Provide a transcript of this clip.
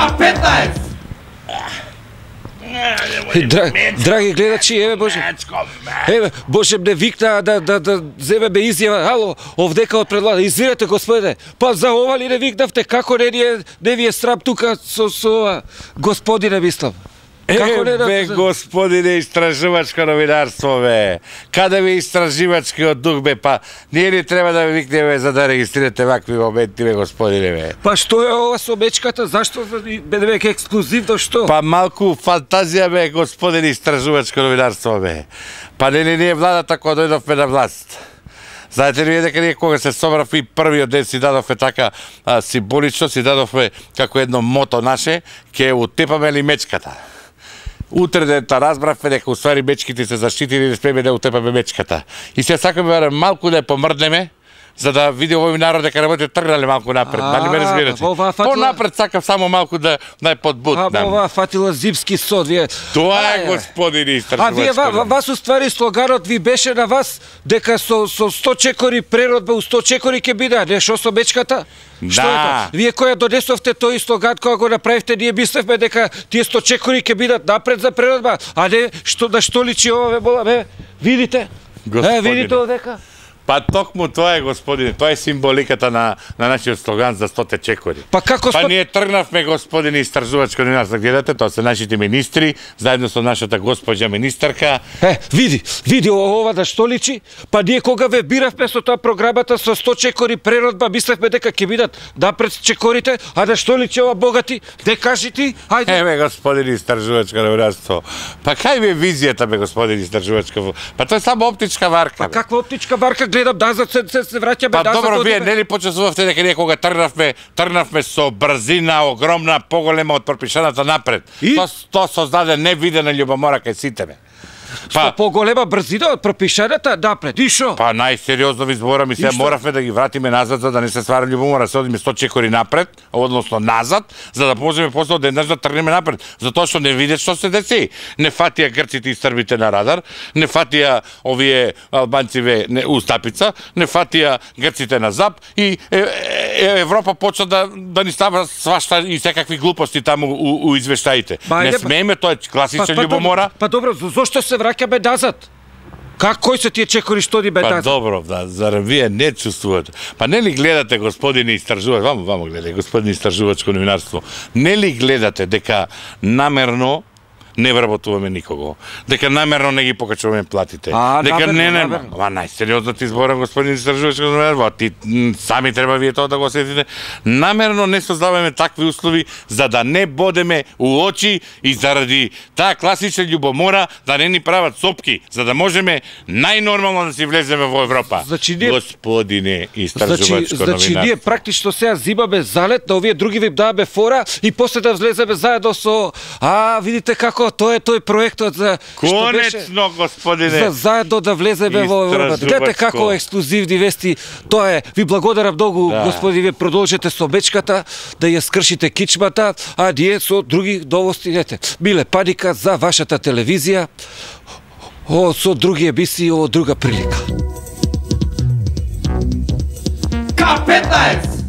К15! Драги гледачи, еве Боже. Еве, Боже ме викна да земе ме изјава. Ало, овдека од предлага. Извинете, господине. Па за ова ли не викнавте? Како не ви е срам тука со господине мислам? Бе, господине истражувачко новинарство, бе. Каде ви истражувачкиот дух, бе, па ние ли треба да ви викнеме за да регистрирате вакви моменти, бе, господине, бе? Па што е ова со мечката? Зашто бе веќе ексклузивно, што? Па малку фантазија, бе, господине истражувачко новинарство, бе. Па нели ние владата кога дојдовме на власт. Знаете ли дека ние кога се собравме и првиот ден си дадовме така символично, си дадовме како едно мото наше, ќе утепаме ли мечката. Утре дента разбравме дека уствари мечките се заштитили и не смееме да утепаме мечката. И се сакаме малку да ја помрднеме, за да види овој народ дека работите тргнале малку напред. Дали ме разбирате? Понапред сакам само малку да ја подбутнам. Ова фатила зимски сод, вие. Тоа е, господине истражувачко. А вие вас уствари слоганот ви беше на вас дека со 100 чекори преродба у 100 чекори ќе биде, не шо со мечката? Што е тоа? Вие која донесовте тој слоган кога го направивте, ние мислевме дека тие 100 чекори ќе бидат напред за преродба, а не на што личи ова бе, видите? Видите овдека? Па токму тоа е, господине, тоа е символиката на нашиот слоган за 100 чекори. Па како Па ние тргнавме, господине истражувачко новинарство, гледате, тоа се нашите министри, заедно со нашата госпоѓа министарка. Види ова да што личи? Па ние кога ве биравме со тоа програмата со 100 чекори преродба, мислевме дека ќе бидат напред чекорите, а да што личи ова богати? Де кажи ти? Ајде. Еве, господине истражувачко новинарство. Па кај ви е визијата, бе, господине истражувачко? Па тоа е само оптичка варка. Па каква оптичка варка? Гледам назад, се враќаме назад. Па добро, вие нели почувствувавте дека ние кога тргнавме со брзина огромна, поголема од пропишаната напред. Тоа создаде невидена љубомора кај сите ме. Па поголема брзина од пропишаната напред. И шо? Па најсериозно ви зборам и се моравме да ги вратиме назад за да не се ствара љубомора, се одиме 100 чекори напред, односно назад, за да можеме после одеднаш да тргнеме напред. Затоа што не видат што се деси. Не фатија грците и србите на радар, не фатија овие албанциве у стапица, не фатија грците на зап и Европа почна да ни става свашта и секакви глупости таму у извештаите. Не смееме, тоа е класична љубомора. Па добро, зошто се враќаме назад? Кои се тие чекори што ни бе назад? Па добро, зарем вие не чувствувате. Па не ли гледате, господине истражувач, вамо гледај, господине истражувачко новинарство, не ли гледате дека намерно не вработуваме никого, дека намерно не ги покачуваме платите, дека ама најсериозно ти зборам, господин истражувачко новинарство, ти сами треба вие тоа да го осетите, намерно не создаваме такви услови за да не бодеме у очи и заради таа класична љубомора да не ни прават сопки, за да можеме најнормално да си влеземе во Европа. Господине истражувачко новинарство. Значи ние практично сега зимаме залет, на овие други ви даваме фора и после да влеземе заедно со видите како тоа е тој проектот за конечно, господине. За заедно да влеземе во Европа. Гледате како ексклузивни вести. Тоа е. Ви благодарам многу, господи, вие продолжете со мечката да ја скршите кичмата, а ние со други новости, гледате. Биле паника за вашата телевизија. Со други емисии, друга прилика. К15!